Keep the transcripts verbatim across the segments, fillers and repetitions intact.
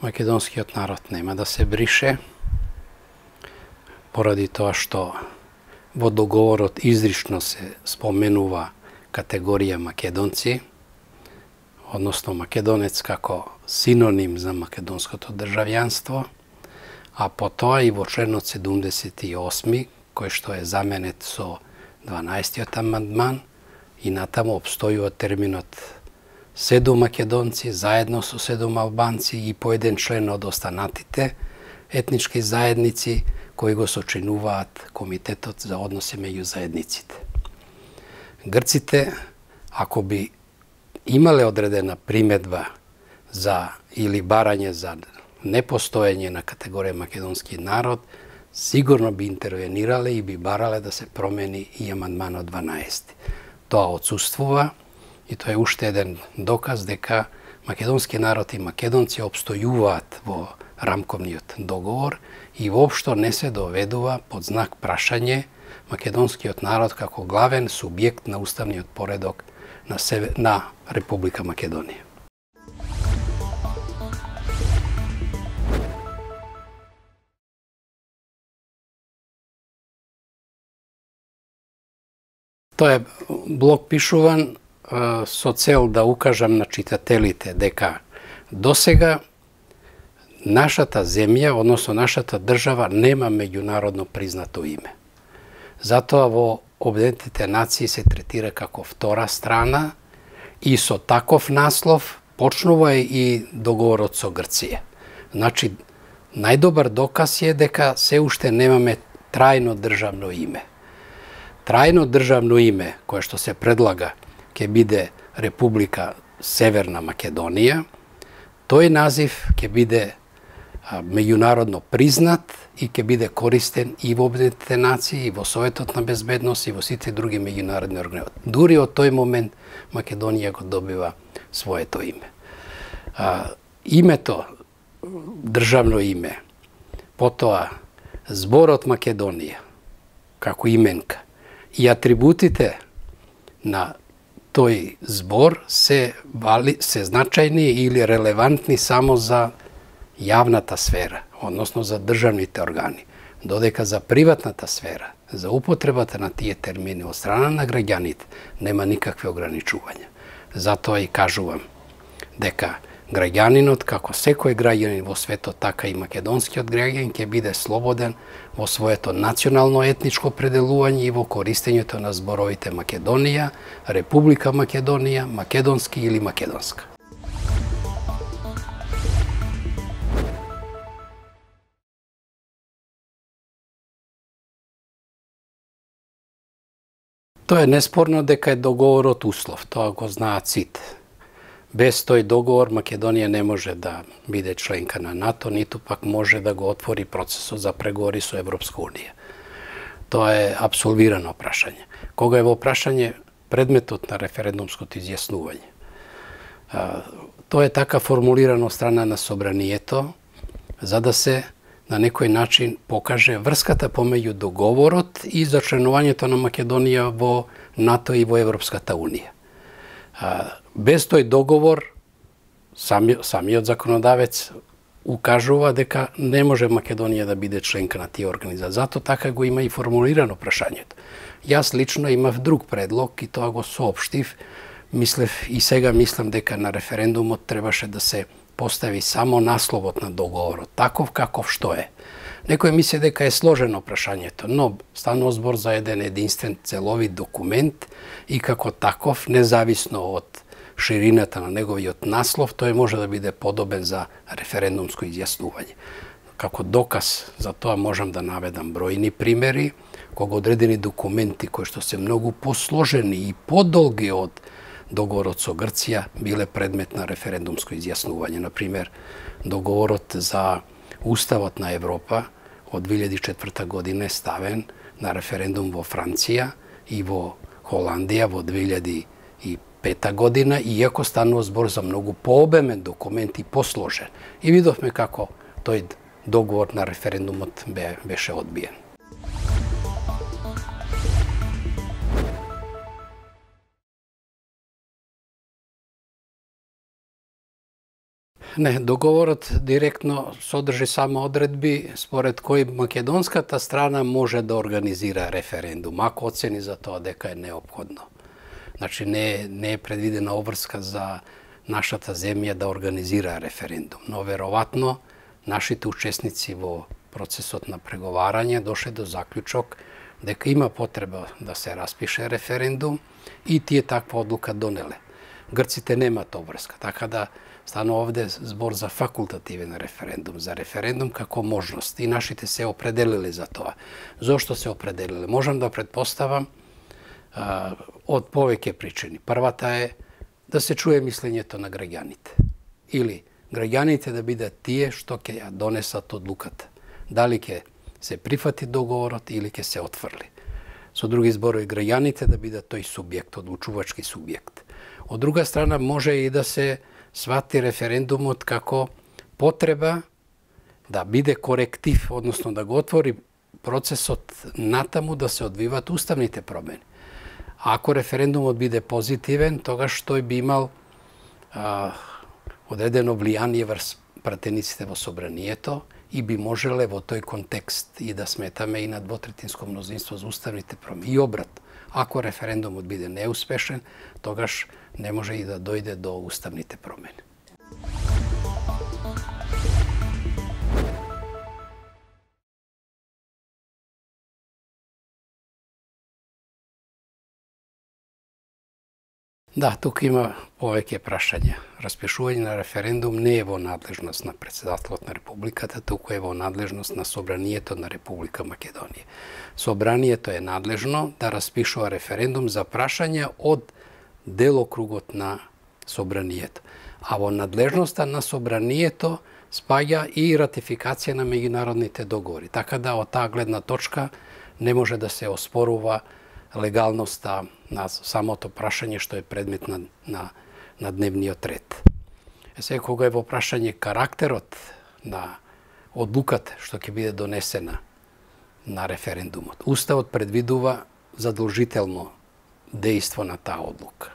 македонскиот народ нема да се брише, поради тоа што во договорот изрично се споменува категорија македонци, односно македонец како синоним за македонското државјанство, а потоа и во членот седумдесет и осми, кој што е заменет со дванаесеттиот амандман, и натаму опстојува терминот седум македонци заедно со седум албанци и по еден член од останатите етнички заедници кои го сочинуваат Комитетот за односи меѓу заедниците. Грците, ако би имале одредена примедба за или барање за непостоење на категорија македонски народ, сигурно би интервенирале и би барале да се промени и амандманот дванаесети. Тоа отсуствува и тоа е уште еден доказ дека македонски народ и македонци опстојуваат во рамковниот договор и воопшто не се доведува под знак прашање македонскиот народ како главен субјект на уставниот поредок на, Север... на Република Македонија. Тоа е блог пишуван со цел да укажам на читателите дека досега нашата земја, односно нашата држава, нема меѓународно признато име. Затоа во Обединетите нации се третира како втора страна и со таков наслов почнува и договорот со Грција. Значи, најдобар доказ е дека се уште немаме трајно државно име. Трајно државно име, кое што се предлага, ќе биде Република Северна Македонија. Тој назив ќе биде меѓународно признат и ќе биде користен и во Обединетите нации, и во Советот на безбедност, и во сите други меѓународни организации. Дури од тој момент Македонија го добива своето име. А, името, државно име, потоа зборот Македонија, како именка, и атрибутите на тој збор се, вали, се значајни или релевантни само за јавната сфера, односно за државните органи, додека за приватната сфера, за употребата на тие термини од страна на граѓаните, нема никакви ограничувања. Затоа и кажувам дека граѓанинот, како секој граѓанин во светот, така и македонскиот граѓанин, ќе биде слободен во своето национално етничко определување и во користењето на зборовите Македонија, Република Македонија, македонски или македонска. Тоа е неспорно дека е договорот услов, тоа го знаат сите. Без тој договор Македонија не може да биде членка на НАТО, ниту пак може да го отвори процесот за преговори со Европска унија. Тоа е апсолвирано прашање. Кога е во прашање предметот на референдумското изјаснување. Тоа е така формулирано од страна на собранието, за да се на некој начин покаже врската помеѓу договорот и зачленувањето на Македонија во НАТО и во Европската унија. Без тој договор, сами, самиот законодавец укажува дека не може Македонија да биде членка на тие организации. Зато така го има и формулирано прашањето. Јас лично имав друг предлог и тоа го соопштив. Мислев и сега мислам дека на референдумот требаше да се постави само насловот на договорот, таков каков што е. Некој мисли дека е сложено прашањето, но станува збор за еден единствен целовит документ и како таков, независно од ширината на неговиот наслов, тој може да биде подобен за референдумско изјаснување. Како доказ за тоа можам да наведам бројни примери, кога одредени документи кои што се многу посложени и подолги од договорот со Грција биле предмет на референдумско изјаснување. Например, договорот за Уставот на Европа од две илјади и четврта година е ставен на референдум во Франција и во Холандија во две илјади и пета година, иако станува збор за многу пообемен документ и посложен. И видовме како тој договор на референдумот беше одбиен. Не, договорот директно содржи само одредби според кои македонската страна може да организира референдум, ако оцени за тоа дека е неопходно. Значи не, не е предвидена обврска за нашата земја да организира референдум, но веројатно нашите учесници во процесот на преговарање дошле до заклучок дека има потреба да се распише референдум и тие таква одлука донеле. Грците немаат обврска, така да станува овде збор за факултативен референдум, за референдум како можност и нашите се определиле за тоа. Зошто се определиле? Можам да предпоставам а, од повеќе причини. Првата е да се чуе мислењето на граѓаните или граѓаните да бидат тие што ќе ја донесат одлуката. Дали ќе се прифати договорот или ќе се отфрли. Со други зборови, граѓаните да бидат тој субјект, одлучувачки субјект. Од друга страна, може и да се свати референдумот како потреба да биде коректив, односно да го отвори процесот натаму да се одвиват уставните промени. А ако референдумот биде позитивен, тогаш тој би имал а, одредено влијание врз пратениците во собранието и би можеле во тој контекст и да сметаме и на двотретинско мнозинство за уставните промени. И обрат, ако референдумот биде неуспешен, тогаш не може и да дојде до уставните промени. Да, тука има повеќе прашања. Распишување на референдум не е во надлежност на председателот на Републиката, туку е во надлежност на Собранието на Република Македонија. Собранието е надлежно да распишува референдум за прашања од делокругот на Собранието. А во надлежноста на Собранието спаѓа и ратификација на меѓународните договори. Така да од таа гледна точка не може да се оспорува легалноста на самото прашање што е предмет на, на, на дневниот ред. Е сега, кога е во прашање карактерот на одлуката што ќе биде донесена на референдумот, Уставот предвидува задолжително дејство на таа одлука.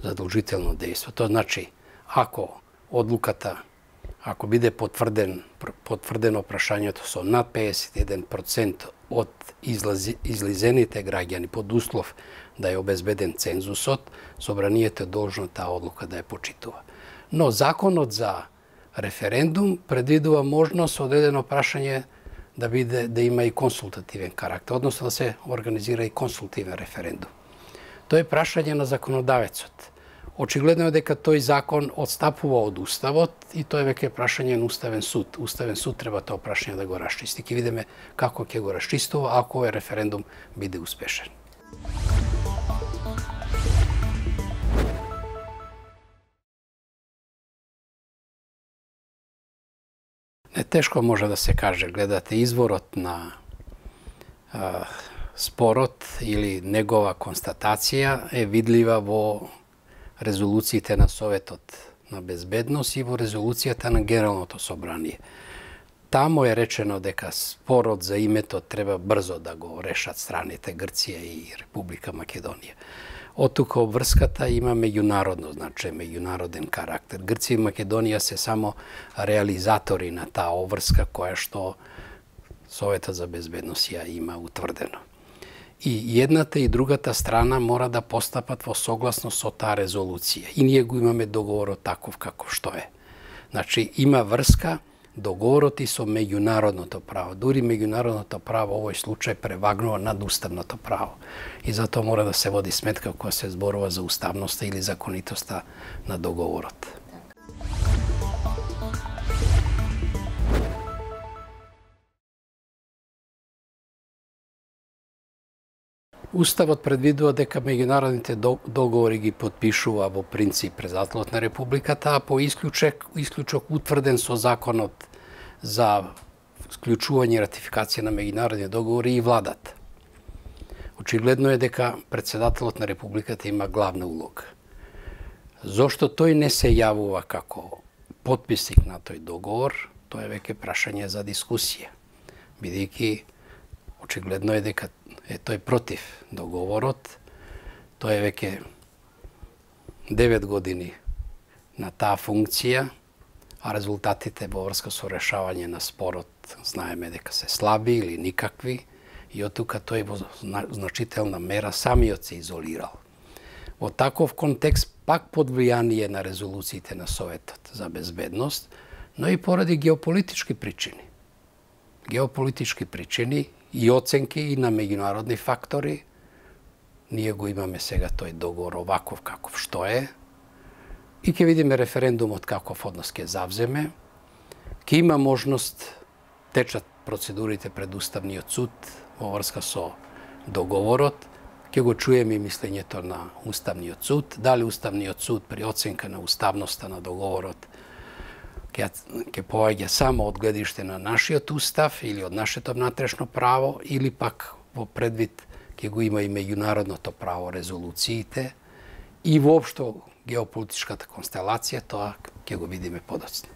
Задолжително дејство. Тоа значи, ако одлуката, ако биде потврден, потврдено прашањето со над педесет и еден процент од излази, излизените граѓани под услов да е обезбеден цензусот, Собранието е должно таа одлука да ја почитува. Но законот за референдум предвидува можност одредено прашање да биде да има и консултативен карактер, односно да се организира и консултативен референдум. Тоа е прашање на законодавецот. Очигледно е дека тој закон отстапува од Уставот и тоа е веќе прашање на Уставен суд. Уставен суд треба тоа прашање да го расчисти. Ќе видиме како ќе го расчистува ако овој референдум биде успешен. Не тешко може да се каже, гледате, изворот на а, спорот или негова констатација е видлива во резолуциите на Советот на безбедност и во резолуцијата на Генералното собрание. Тамо е речено дека спорот за името треба брзо да го решат страните Грција и Република Македонија. Од тука обврската има меѓународно, значи меѓународен карактер. Грција и Македонија се само реализатори на таа обврска која што Советот за безбедност ја има утврдено. И едната и другата страна мора да постапат во согласност со таа резолуција. И ние го имаме договорот таков како што е. Значи, има врска договорот и со меѓународното право. Дури меѓународното право во овој случај превагнува над уставното право. И затоа мора да се води сметка кога се зборува за уставноста или законитоста на договорот. Уставот предвидува дека меѓународните договори ги потпишува во принцип председателот на Републиката, а по исклучок, исклучок утврден со законот за склучување и ратификација на меѓународни договори и владата. Очигледно е дека председателот на Републиката има главна улога. Зошто тој не се јавува како потписник на тој договор, тоа е веќе прашање за дискусија, бидејќи очигледно е дека е тој против договорот. Тој е веќе девет години на таа функција а резултатите во врска со решавање на спорот знаеме дека се слаби или никакви, и од тука тој во значителна мера самиот се изолирал. Во таков контекст, пак под влијание на резолуциите на Советот за безбедност, но и поради геополитички причини. Геополитички причини и оценки и на меѓународни фактори, ние го имаме сега тој договор оваков каков што е, и ќе видиме референдумот каков однос ќе завземе, ќе има можност, течат процедурите пред Уставниот суд во врска со договорот, ќе го чуеме и мислењето на Уставниот суд, дали Уставниот суд при оценка на уставноста на договорот ќе ќе поаѓа само од гледиште на нашиот устав или од нашето внатрешно право, или пак во предвид ќе го има и меѓународното право, резолуциите и воопшто геополитичката констелација, тоа ќе го видиме подоцна.